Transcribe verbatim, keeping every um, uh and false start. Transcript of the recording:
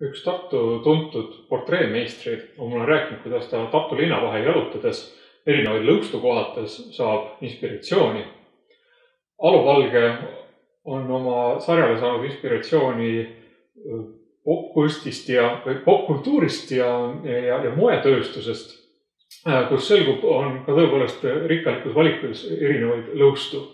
üks Tartu tuntud portreemeistrid on mulle rääkinud, kuidas ta Tartu linna vahel jalutades erinevaid lõustukohates saab inspiratsiooni. Alo Valge on oma sarjale saanud inspiratsiooni popkunstist ja popkultuurist ja, ja, ja moetööstusest, kus selgub, on ka tõepoolest rikkalikus valikus erinevaid lõustu.